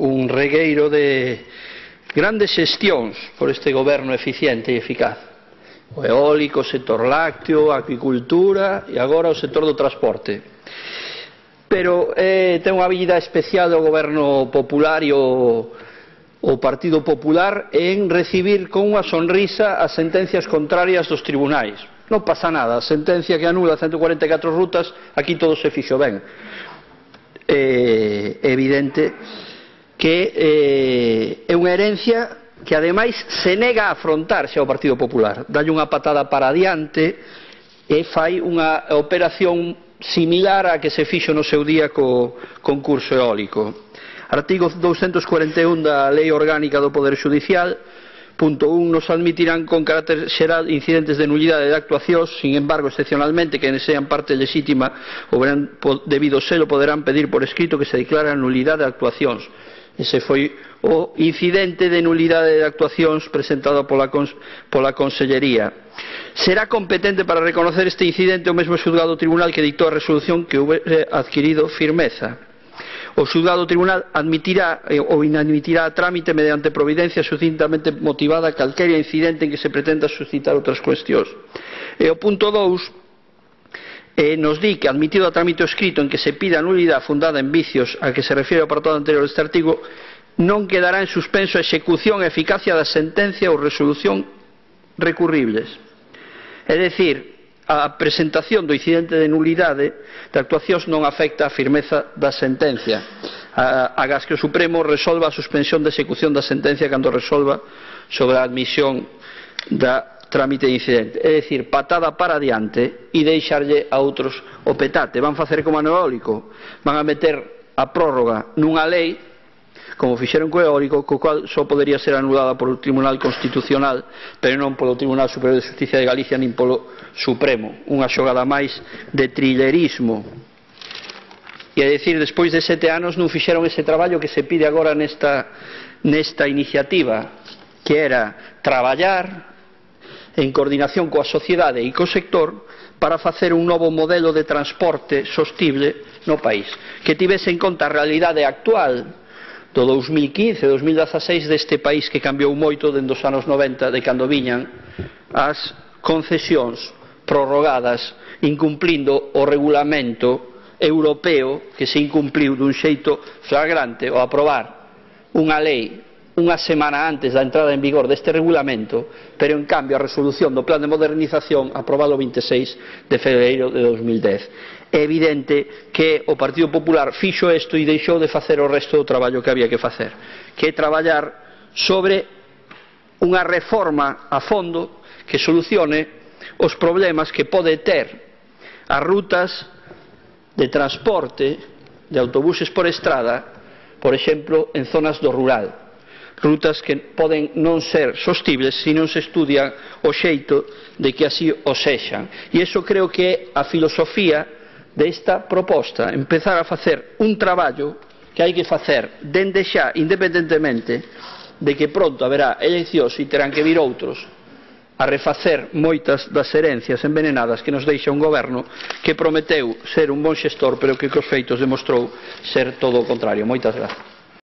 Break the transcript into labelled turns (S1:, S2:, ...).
S1: un regueiro de grandes xestións por este goberno eficiente e eficaz. O eólico, o sector lácteo, a acuicultura e agora o sector do transporte. Pero ten unha habilidade especial do goberno popular e o Partido Popular en recibir con unha sonrisa as sentencias contrarias dos tribunais. Non pasa nada, a sentencia que anula 144 rutas, aquí todo se fixo ben. É evidente que é unha herencia que ademais se nega a afrontarse ao Partido Popular. Dalle unha patada para adiante e fai unha operación similar á que se fixo no seu día co concurso eólico. Artigo 241 da Lei Orgánica do Poder Judicial, punto 1, nos admitirán con carácter xeral incidentes de nulidade de actuacións, sin embargo, excepcionalmente, que sean parte legítima ou verán debido selo, poderán pedir por escrito que se declare a nulidade de actuacións. Ese foi o incidente de nulidade de actuacións presentado pola Consellería. Será competente para reconocer este incidente o mesmo xulgado tribunal que dictou a resolución que houbere adquirido firmeza. O xulgado tribunal admitirá ou inadmitirá a trámite mediante providencia sucintamente motivada calquera incidente en que se pretenda suscitar outras cuestións. E o punto 2 nos di que, admitido a trámite escrito en que se pida a nulidade fundada en vicios a que se refiere o apartado anterior deste artigo, non quedará en suspenso a execución e eficacia da sentencia ou resolución recurribles. É dicir, a presentación do incidente de nulidade de actuacións non afecta a firmeza da sentencia, agás que o Supremo resolva a suspensión de execución da sentencia cando resolva sobre a admisión da trámite de incidente. É dicir, patada para adiante e deixarlle a outros o petate. Van facer como a no eólico, van a meter a prórroga nunha lei, como fixeron co eólico, co cual só podería ser anulada polo Tribunal Constitucional, pero non polo Tribunal Superior de Justicia de Galicia nin polo Supremo. Unha xogada máis de trillerismo. E a dicir, despois de 7 anos non fixeron ese traballo que se pide agora nesta iniciativa, que era traballar en coordinación coa sociedade e co sector para facer un novo modelo de transporte sostible no país, que tivese en conta a realidade actual do 2015-2016 deste país que cambiou moito dende os anos 90, de cando viñan as concesións prorrogadas incumplindo o regulamento europeo, que se incumpliu dun xeito flagrante ao aprobar unha lei unha semana antes da entrada en vigor deste regulamento, pero en cambio a resolución do plan de modernización aprobado o 26 de febreiro de 2010. É evidente que o Partido Popular fixo isto e deixou de facer o resto do traballo que había que facer, que é traballar sobre unha reforma a fondo que solucione os problemas que pode ter as rutas de transporte de autobuses por estrada, por exemplo, en zonas do rural. Rutas que poden non ser sostibles se non se estudia o xeito de que así o sexan. E iso creo que é a filosofía desta proposta, empezar a facer un traballo que hai que facer dende xa, independentemente de que pronto haberá eleccións e terán que vir outros a refacer moitas das herencias envenenadas que nos deixa un goberno que prometeu ser un bon xestor, pero que cos feitos demostrou ser todo o contrario. Moitas grazas.